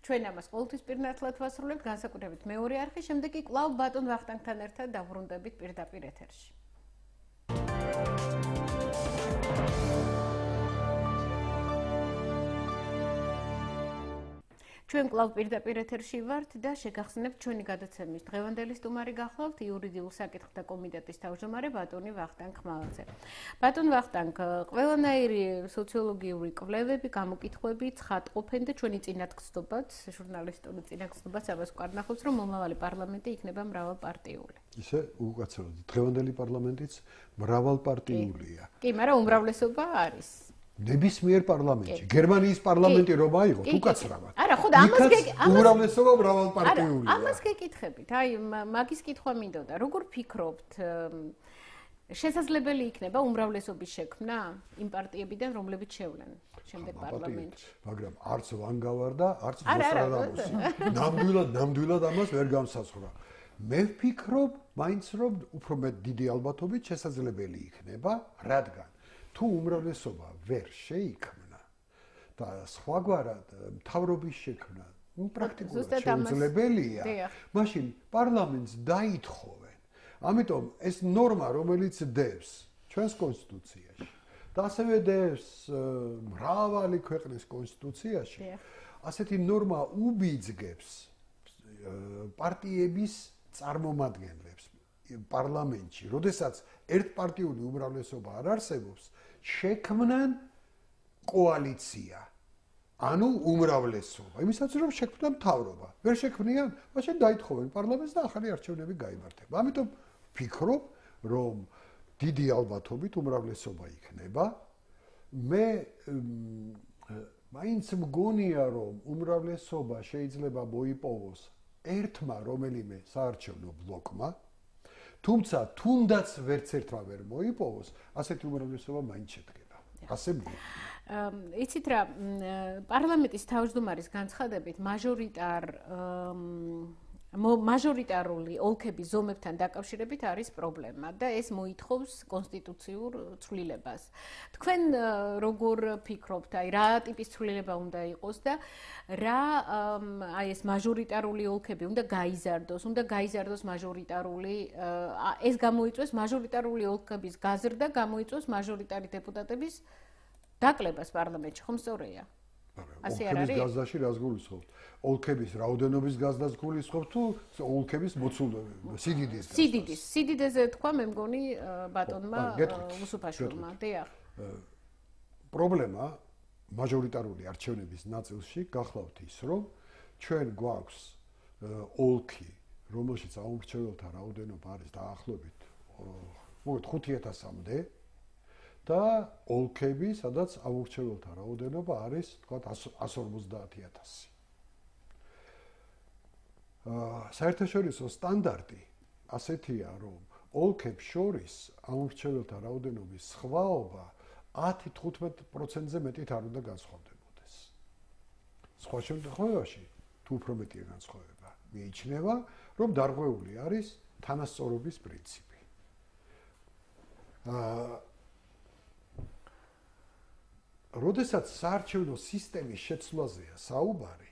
ჩვენ ამას ყოველთვის პირნათლად ვასრულებთ, განსაკუთრებით მეორე არხი, შემდეგ კი კვლავ ბატონ ვახტანგთან ერთად დავბრუნდებით პირდაპირ ეთერში. ჩვენ კვლავ პირდაპირ ეთერში ვართ და შეგახსენებთ ჩვენი გადაცემის დღევანდელი სტუმარი გახლავთ იურიდიულ საკითხთა კომიტეტის თავმჯდომარე ბატონი ვახტანგ ხმალაძე. ბატონ ვახტანგ, ყველანაირი სოციოლოგიური კვლევები, გამოკითხვები ცხადყოფენ და ჩვენი წინათგზნობაც, ჟურნალისტური წინათგზნობაც ამას ვკარნახობს, რომ მომავალი პარლამენტი იქნება მრავალპარტიული. ისე უკაცრავად, დღევანდელი პარლამენტიც მრავალპარტიულია. კი, მაგრამ უმრავლესობა არის. ნებისმიერ პარლამენტში, გერმანიის პარლამენტი რომ აიღოთ, უკაცრავად. არა, ხო და ამას ამას უმრავლესობა მრავალპარტიულია. ამას გეკითხებით. აი, მაგის კითხვა მინდოდა. როგორ ფიქრობთ, შესაძლებელი იქნება უმრავლესობის შექმნა იმ პარტიებიდან, რომლებიც შევლენ შემდეგ პარლამენტში? მაგრამ არც ვანგავარ და არც მოსტრადამოსი. ნამდვილად, ნამდვილად ამას ვერ გამსაცხრა. მე ვფიქრობ, მაინც რომ უფრო მეტ დიდი ალბათობით შესაძლებელი იქნება, რადგან თუ უმრავლესობა ვერ შეიქმნა და სხვაგვარად მთავრობის შექმნა, ну პრაქტიკულად შეუძლებელია, მაშინ პარლამენტს დაითხოვენ. ამიტომ ეს ნორმა, რომელიც დევს ჩვენს კონსტიტუციაში და ასევე დევს მრავალი ქვეყნის კონსტიტუციაში, ასეთი ნორმა უბიძგებს პარტიების წარმომადგენლებს პარლამენტში, როდესაც ერთპარტიული უმრავლესობა არ არსებობს, შექმნან კოალიცია. ანუ უმრავლესობა. იმისაც რომ შექმნან მთავრობა. ვერ შექმნიან, მაშინ დაითხოვენ პარლამენტს და ახალი არჩევნები გაიმართება. ამიტომ ვფიქრობ, რომ დიდი ალბათობით უმრავლესობა იქნება. მე მაინც მგონია, რომ უმრავლესობა შეიძლება მოიპოვოს ერთმა რომელიმე საარჩევნო ბლოკმა, თუმცა თუნდაც ვერც ერთმა ვერ მოიპოვოს, ასეთი უმრავლესობა მაინც შედგება. ასე მგონია. იცით რა, პარლამენტის თავმჯდომარის განცხადებით მაჟორიტარ მაჟორიტარული ოლქების ზომებთან დაკავშირებით არის პრობლემა და ეს მოითხოვს კონსტიტუციურ ცვლილებას. თქვენ როგორ ფიქრობთ, აი რა ტიპის ცვლილება უნდა იყოს და რა აი ეს მაჟორიტარული ოლქები უნდა გაიზარდოს, უნდა გაიზარდოს მაჟორიტარული ეს გამოიწვევს მაჟორიტარული ოლქების გაზრდა, გამოიწვევს მაჟორიტარი დეპუტატების დაკლებას პარლამენტში, ხომ სწორია? ასე არ არის? ოლქების გაზრდაში რას გულისხმობთ? ოლქების რაოდენობის გაზრდას გულისხმობთ თუ ოლქების მოცულობის, სიდიდის? სიდიდის, სიდიდეზე თქვა მე მგონი ბატონმა უსუფაშვილმა. დიახ. პრობლემა მაჟორიტარული არჩევნების ნაწილში გახლავთ ის, რომ ჩვენ გვაქვს ოლქი, რომელშიც აუმრჩეველთა რაოდენობა არის დაახლოებით მოგეთ ხუთი ათასამდე და ოლქები, სადაც აუმრჩეველთა რაოდენობა არის, თქვათ, εκατს ორმოცდაათი ათასი. საერთაშორისო სტანდარტი ასეთია, რომ ოლქებს შორის აუმრჩეველთა რაოდენობის სხვაობა ათი თხუთმეტ პროცენტზე მეტით არ უნდა განსხვავდებოდეს. სხვა შემთხვევაში, თუ უფრო მეტია განსხვავება, მიიჩნევა, რომ დარღვეული არის თანასწორობის პრინციპი. აა როდესაც საარჩევნო სისტემის შეცვლაზეა საუბარი,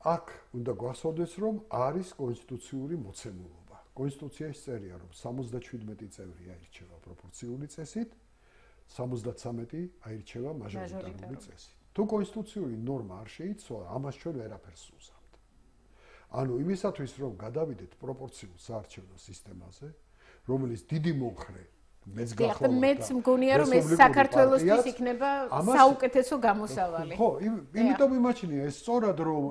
აქ უნდა გვახსოვდეს, რომ არის კონსტიტუციური მოცემულობა. კონსტიტუციაში წერია, რომ სამოცდაშვიდმეტი წევრი აირჩევა პროპორციული წესით, სამოცდათვრამეტი აირჩევა მაჟორიტარული წესით. თუ კონსტიტუციური ნორმა არ შეიცვალა, ამას ჩვენ ვერაფერს უზამთ. ანუ იმისათვის, რომ გადავიდეთ პროპორციულ საარჩევნო სისტემაზე, რომელიც დიდი მომხრე მეც გახლავთ. მეც მგონია, რომ ეს საქართველოსთვის იქნება საუკეთესო გამოსავალი. ხო, იმიტომ იმაჩნია ეს სწორად, რომ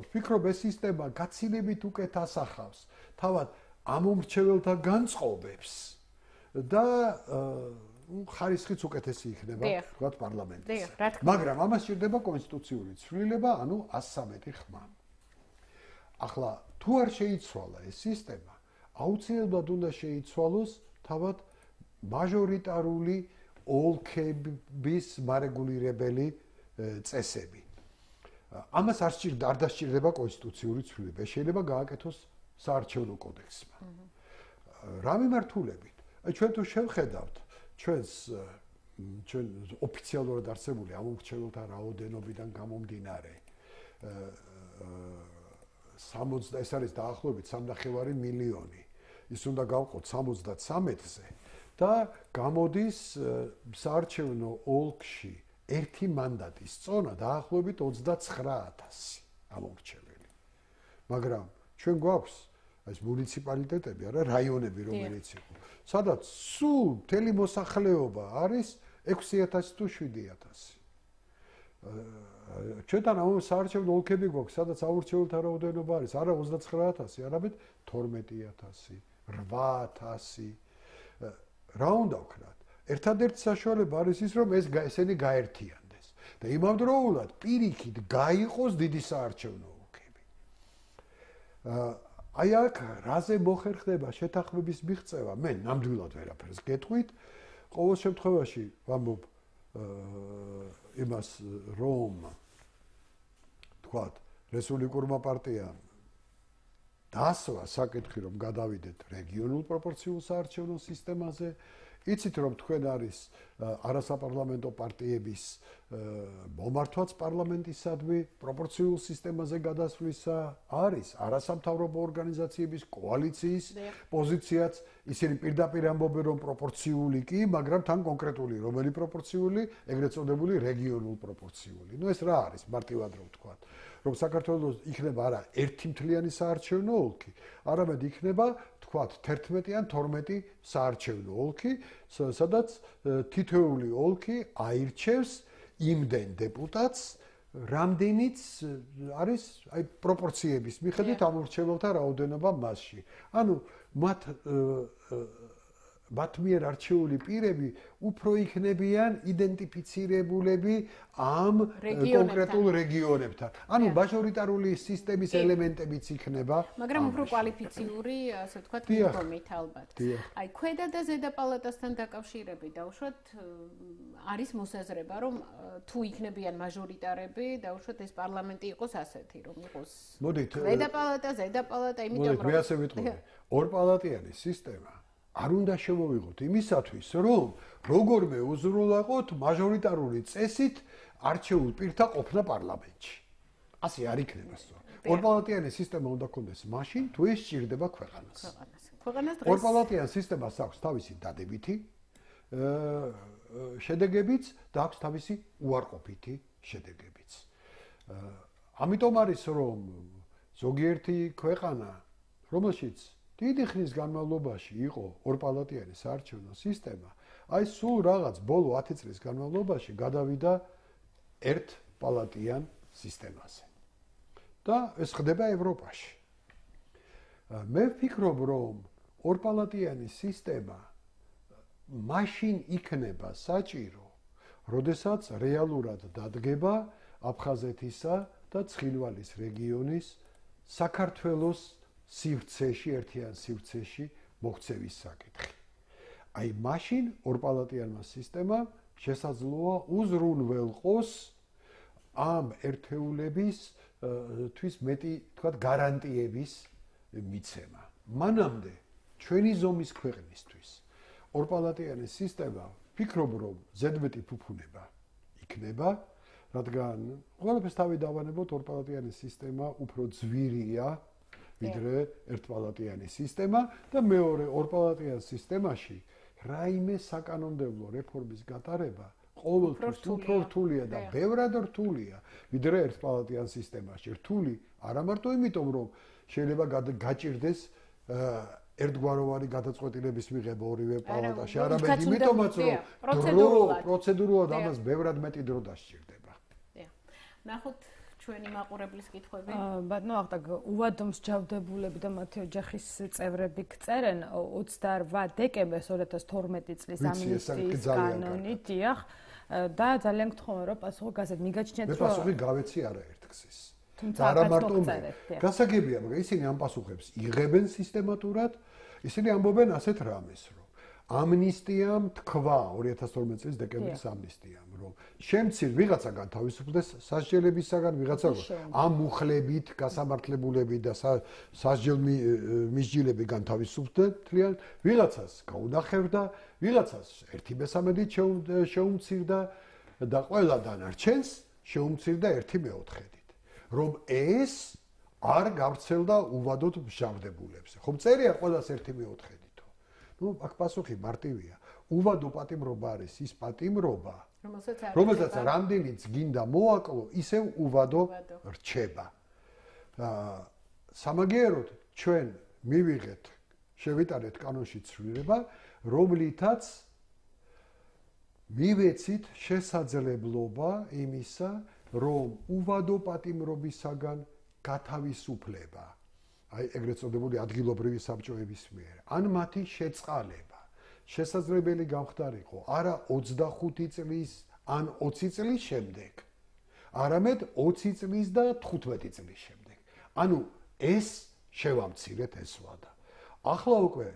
ვფიქრობ ეს სისტემა გაცილებით უკეთ ასახავს თავად ამომრჩეველთა განწყობებს და ხარისხიც უკეთესი იქნება, თქვათ, პარლამენტის. მაგრამ ამას სჭირდება კონსტიტუციური ცვლილება, ანუ εκατს ცხრამეტი ხმა. ახლა თუ არ შეიცვალა ეს სისტემა, აუცილებლად უნდა შეიცვალოს თავად მაჟორიტარული ოლქების მარეგულირებელი წესები. ამას არ სჭირდა, არ დასჭირდება კონსტიტუციური ცვლილება. შეიძლება გააკეთოს საარჩევნო კოდექსმა. რა მიმართულებით? აი ჩვენ თუ შევხედავთ ჩვენს ჩვენ ოფიციალურად არსებული ამომრჩეველთა რაოდენობიდან გამომდინარე სამოცდა ეს არის დაახლოებით სამნახევარი მილიონი. ის უნდა გავყოთ სამოცდათვრამეტზე და გამოდის საარჩევნო ოლქში ერთი მანდატის წონა დაახლოებით ოცდაცხრა ათასი ამორჩეველი. მაგრამ ჩვენ გვაქვს ეს მუნიციპალიტეტები, არა რაიონები, რომელიც იყო, სადაც სულ მთელი მოსახლეობა არის ექვსი ათასი თუ შვიდი ათასი. ჩვენთან ამ საარჩევნო ოლქები გვაქვს, სადაც აურჩეველთა რაოდენობა არის არა ოცდაცხრა ათასი, არამედ თორმეტი ათასი, რვა ათასი. რა უნდა ვქნათ? ერთადერთი საშუალება არის ის, რომ ეს ესენი გაერთიანდეს და იმავდროულად პირიქით გაიყოს დიდი საარჩევნო ოლქები. აი აქ რაზე მოხერხდება შეთანხმების მიღწევა? მე ნამდვილად ვერაფერს გეტყვით. ყოველ შემთხვევაში ვამბობ იმას, რომ თქვათ, რესპუბლიკურმა პარტიამ დასვა საკითხი, რომ გადავიდეთ რეგიონულ პროპორციულ საარჩევნო სისტემაზე. იცით, რომ თქვენ არის არასაპარლამენტო პარტიების მომართვაც პარლამენტისადმი პროპორციულ სისტემაზე გადასვლისა, არის არასამთავრობო ორგანიზაციების კოალიციის პოზიციაც, ისინი პირდაპირ ამბობენ, რომ პროპორციული კი, მაგრამ თან კონკრეტული რომელი პროპორციული, ეგრეთ წოდებული რეგიონულ პროპორციული. ნუ ეს რა არის, მარტივად რომ ვთქვათ, რომ საქართველოს იქნება არა ერთი მთლიანი საარჩევნო ოლქი, არამედ იქნება თქვათ თერთმეტი ან თორმეტი საარჩევნო ოლქი, სადაც თითოეული ოლქი აირჩევს იმდენ დეპუტატს, რამდენიც არის აი პროპორციების მიხედვით ამორჩეველთა რაოდენობა მასში. ანუ მათ მათ მიერ არჩეული პირები უფრო იქნებიან იდენტიფიცირებულები ამ კონკრეტულ რეგიონებთან. ანუ მაჟორიტარული სისტემის ელემენტებიც იქნება. მაგრამ უფრო კვალიფიციური, ასე ვთქვათ, მიდგომით ალბათ. აი, ქვედა და ზედა პალატასთან დაკავშირებით დაუშვათ არის მოსაზრება, რომ თუ იქნებიან მაჟორიტარები, დაუშვათ ეს პარლამენტი იყოს ასეთი, რომ იყოს ქვედა პალატა, ზედა პალატა, იმიტომ რომ მე ასე ვიტყოდი, ორპალატიანი სისტემა არ უნდა შევავიღოთ იმისათვის, რომ როგორმე უზრუნველყოთ მაჟორიტარული წესით არჩეულ პირთა ყოფნა პარლამენტში. ასე არ იქნება სწორ. ორპალატიანი სისტემა უნდა ქონდეს მაშინ, თუ ეს სჭირდება ქვეყანას. ქვეყანას დღეს ორპალატიან სისტემას აქვს თავისი დადებითი შედეგებიც და აქვს თავისი უარყოფითი შედეგებიც. ამიტომ არის, რომ ზოგიერთი ქვეყანა, რომელშიც დიდი ხნის განმავლობაში იყო ორპალატიანი საარჩევნო სისტემა, აი სულ რაღაც ბოლო ათი წლის განმავლობაში გადავიდა ერთპალატიან სისტემაზე. და ეს ხდება ევროპაში. მე ვფიქრობ, რომ ორპალატიანი სისტემა მაშინ იქნება საჭირო, როდესაც რეალურად დადგება აფხაზეთისა და ცხინვალის რეგიონის საქართველოს სივრცეში, ერთიან სივრცეში მოქცევის საკითხი. აი მაშინ ორპალატიანმა სისტემამ შესაძლოა უზრუნველყოს ამ ერთეულების თვის მეტი, თქვათ, გარანტიების მიცემა. მანამდე ჩვენი ზომის ქვეყნისთვის ორპალატიანი სისტემა ვფიქრობ, რომ ზედმეტი ფუფუნება იქნება, რადგან ყველაფერს თავი დავანებოთ, ორპალატიანი სისტემა უფრო ძვირია ვიდრე ერთპალატიანი სისტემა და მეორე ორპალატიან სისტემაში რაიმე საკანონმდებლო რეფორმის გატარება ყოველთვის უფრო რთულია და ბევრად რთულია ვიდრე ერთპალატიან სისტემაში. რთული არა მარტო იმიტომ, რომ შეიძლება გაჭირდეს ერთგვაროვანი გადაწყვეტილების მიღება ორივე პალატაში, არამედ იმიტომაც, რომ პროცედურულად ამას ბევრად მეტი დრო დასჭირდება. ნახოთ ჩვენი მაყურებლის კითხვები. ბატონო ახტაგ, უვადო მსჯავრდებულები და მათი ოჯახის წევრები გწერენ ოცდარვა დეკემბერს ორი ათას თორმეტი წლის ამნისტიის კანონით, დიახ, და ძალიან გთხოვენ, რომ პასუხი გასცეთ. მიგაჩნიათ, რომ მე პასუხი გავეცი არაერთგზის. და არა მარტო მე. გასაგებია, მაგრამ ისინი ამ პასუხებს იღებენ სისტემატურად, ისინი ამბობენ ასეთ რამეს, რომ ამნისტიამ თქვა ორი ათას თორმეტი წლის დეკემბრის ამნისტიამ, რომ შემცირ ვიღაცა განთავისუფლდეს სასჯელებისაგან, ვიღაცა ამ მუხლებით, გასამართლებულებით და სასჯელ მისჯილები განთავისუფლდნენ თლიან, ვიღაცას გაუნახევდა, ვიღაცას ერთი მესამედით შეუმცირდა და ყველა დანარჩენს შეუმცირდა ერთი მეოთხედით. რომ ეს არ გავრცელდა უვადოდ მსჯავრდებულებზე. ხომ წერია ყველას ერთი მეოთხედით. ნუ აქ პასუხი მარტივია. უვადო პატიმრობა არის ის პატიმრობა, რომელსაც რამდენიც გინდა მოაკლო, ისევ უვადო რჩება. სამაგიეროდ ჩვენ მივიღეთ, შევიტანეთ კანონში ცვლილება, რომლითაც მივეცით შესაძლებლობა იმისა, რომ უვადო პატიმრობისაგან გათავისუფლება, აი ეგრეთ წოდებული ადგილობრივი საბჭოების მიერ, ან მათი შეწყალება შესაძლებელი გამხდარიყო არა ოცდახუთი წლის ან ოცი წლის შემდეგ, არამედ ოცი წლის და თხუთმეტი წლის შემდეგ. ანუ ეს შევამცირეთ ეს ვადა. ახლა უკვე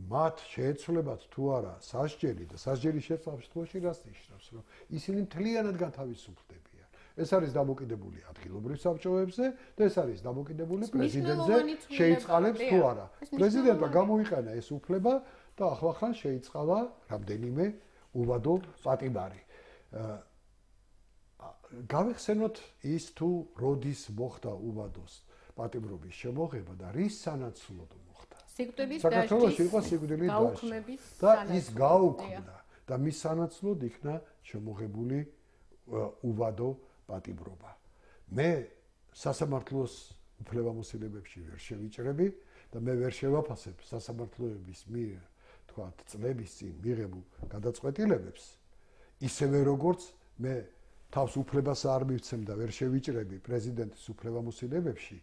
მათ შეეცვლებათ თუ არა სასჯელი და სასჯელის შესაბამისობაში რას ნიშნავს, რომ ისინი მთლიანად გათავისუფლდებიან. ეს არის დამოკიდებული ადგილობრივ საბჭოებზე და ეს არის დამოკიდებული პრეზიდენტზე, შეიწყალებს თუ არა. პრეზიდენტმა გამოიყენა ეს უფლება და ახლახან შეიწყალა რამდენიმე უვადო პატიმარი. გავიხსენოთ ის თუ როდის მოხდა უვადოს პატიმრობის შემოღება და რის სანაცვლოდ მოხდა. სიკვდილის საქართველოში იყო სიკვდილის გაუქმების და ის გაუქმდა და მის სანაცვლოდ იქნა შემოღებული უვადო პატიმრობა. მე სასამართლოს უფლებამოსილებებში ვერ შევიჭრები და მე ვერ შევაფასებ სასამართლოების მიერ თქვათ წლების წინ მიღებულ გადაწყვეტილებებს, ისევე როგორც მე თავს უფლებას არ მივცემ და ვერ შევიჭრები პრეზიდენტის უფლებამოსილებებში,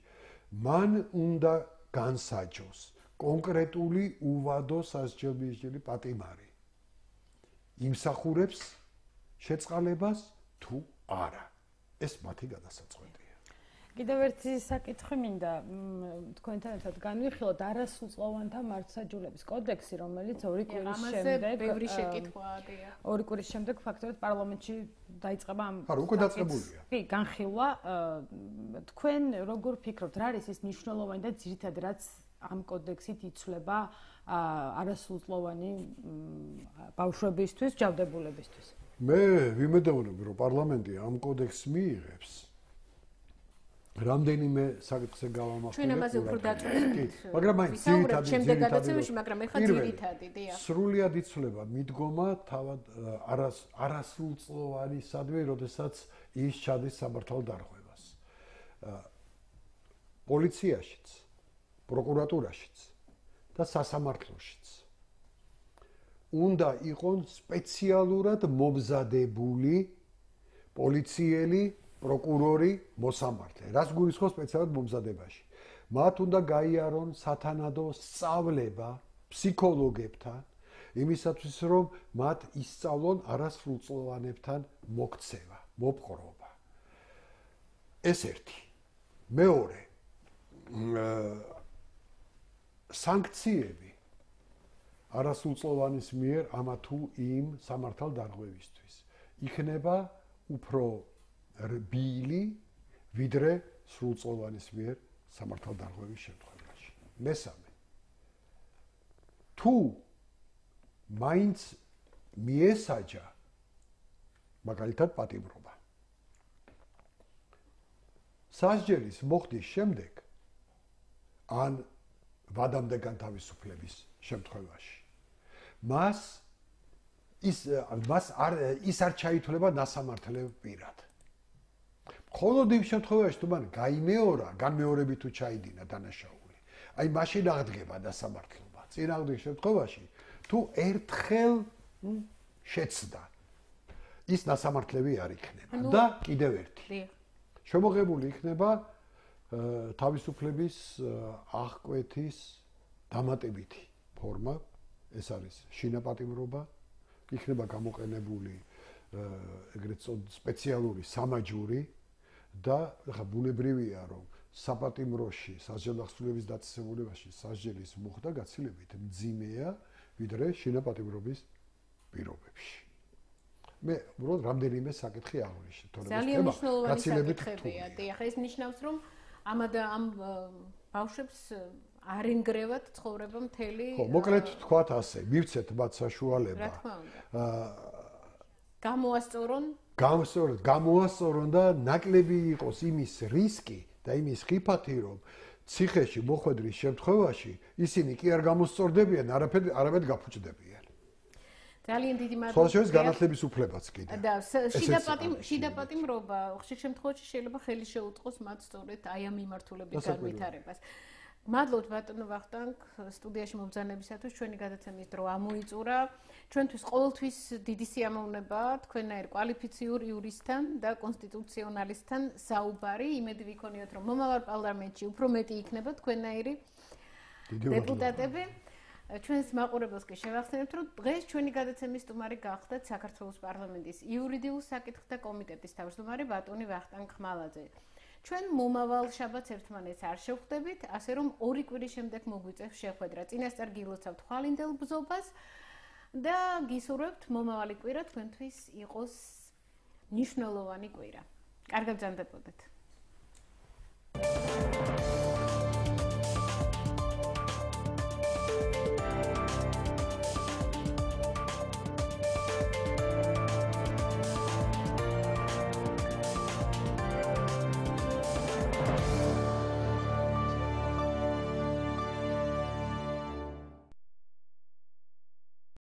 მან უნდა განსაჯოს კონკრეტული უვადო სასჯელმისჯილი პატიმარი. იმსახურებს შეწყალებას თუ არა. ეს მათი გადასაწყვეტია. კიდევ ერთი საკითხი მინდა თქვენთან ერთად განვიხილოთ არასრულწლოვანთა მართლმსაჯულების კოდექსი, რომელიც ორი კვირის შემდეგ ბევრი შეკითხვაა, ორი კვირის შემდეგ ფაქტობრივად პარლამენტში დაიწყება ამ არა, უკვე დაწყებულია. კი, განხილვა. თქვენ როგორ ფიქრობთ, რა არის ის მნიშვნელოვანი და ძირითადად რაც ამ კოდექსით იცვლება არასრულწლოვანი ბავშვებისთვის, ჯავდებულებისთვის? მე ვიმედოვნებ, რომ პარლამენტი ამ კოდექსს მიიღებს. რამდენიმე საკითხზე გავამახვილებ. ჩვენ ამაზე უფრო დაწვევით. მაგრამ მაინც ძირითადად შემდეგ გადაცემაში, მაგრამ ეხლა ძირითადი, დიახ. სრულიად იცვლება მიდგომა თავად არასრულწლოვანისადმი, როდესაც ის ჩადის სამართალ დარღვევას. პოლიციაშიც, პროკურატურაშიც და სასამართლოშიც. უნდა იყონ სპეციალურად მომზადებული პოლიციელი, პროკურორი, მოსამართლე. რას გულისხმობს სპეციალურად მომზადებაში? მათ უნდა გაიარონ სათანადო სწავლება ფსიქოლოგებთან, იმისათვის რომ მათ ისწავლონ არასრულწლოვანებთან მოქცევა, მოპყრობა. ეს ერთი. მეორე, სანქციები არასრულწლოვანის მიერ ამა თუ იმ სამართალ დარღვევისთვის იქნება უფრო რბილი, ვიდრე სრულწლოვანის მიერ სამართალ დარღვევის შემთხვევაში. მესამე, თუ მაინც მიესაჯა მაგალითად პატიმრობა, სასჯელის მოხდის შემდეგ ან ვადამდე განთავისუფლების შემთხვევაში მას ის მას არ ის არ ჩაითვლება დასამართლე პირად. მხოლოდ იმ შემთხვევაში თუ მან გაიმეორა, განმეორებით თუ ჩაიდინა დანაშაული, აი მაშინ აღდგება დასამართლობა. წინააღმდეგ შემთხვევაში თუ ერთხელ შეცდა, ის დასამართლები არ იქნება. და კიდევ ერთი. შემოღებული იქნება თავისუფლების აღკვეთის დამატებითი ფორმა, ეს არის შინაპატიმრობა, იქნება გამოყენებული ეგრეთ წოდებული სპეციალური სამაჯური და ხა ბუნებრივია, რომ საპატიმროში, სასჯელდახსნილების დაწესებულებაში სასჯელის მოხდა გაცილებით მძიმეა, ვიდრე შინაპატიმრობის პირობებში. მე უბრალოდ რამდენიმე საკითხი აღვნიშნე, თორემ ეს თემა გაცილებით რთულია. დიახ, ეს ნიშნავს, რომ ამადა ამ ბავშვებს არ ენგრევათ ცხოვრება მთელი. ხო, მოკლედ თქვათ ასე, მივცეთ მათ საშუალება. რა თქმა უნდა. გამოასწორონ, გამოასწორონ, გამოასწორონ და ნაკლები იყოს იმის რისკი და იმის ხიფათი, რომ ციხეში მოხვედრის შემთხვევაში ისინი კი არ გამოსწორდებიან, არაფერ არამედ გაფუჭდებიან. ძალიან დიდი მადლობა. სხვა შორის განათლების უფლებაც კიდე. და შიდა პატიმ შიდა პატიმრობა ხშირ შემთხვევაში შეიძლება ხელი შეუწყოს მათ სწორედ აი ამ მიმართულებით განვითარებას. მადლობთ ბატონო ვახტანგ სტუდიაში მომბრძანებისათვის ჩვენი გადაცემის დრო ამოიწურა. ჩვენთვის ყოველთვის დიდი სიამოვნებაა თქვენაერ კვალიფიციურ იურისტთან და კონსტიტუციონალისტთან საუბარი. იმედი ვიქონიოთ რომ მომავალ პარლამენტში უფრო მეტი იქნება თქვენაირი დეპუტატები. ჩვენს მაყურებელს კი შევახსენებთ რომ დღეს ჩვენი გადაცემის სტუმარი გახდათ საქართველოს პარლამენტის იურიდიულ საკითხთა კომიტეტის თავმჯდომარე ბატონი ვახტანგ ხმალაძე. ჩვენ მომავალ შაბათს ერთმანეთს არ შევხვდებით, ასე რომ ორი კვირის შემდეგ მოგვიწევს შეხვედრა. წინასწარ გილოცავთ ხვალინდელ ბრძოლას და გისურვებთ მომავალი კვირა თქვენთვის იყოს მნიშვნელოვანი კვირა. კარგად ბრძანდებოდეთ.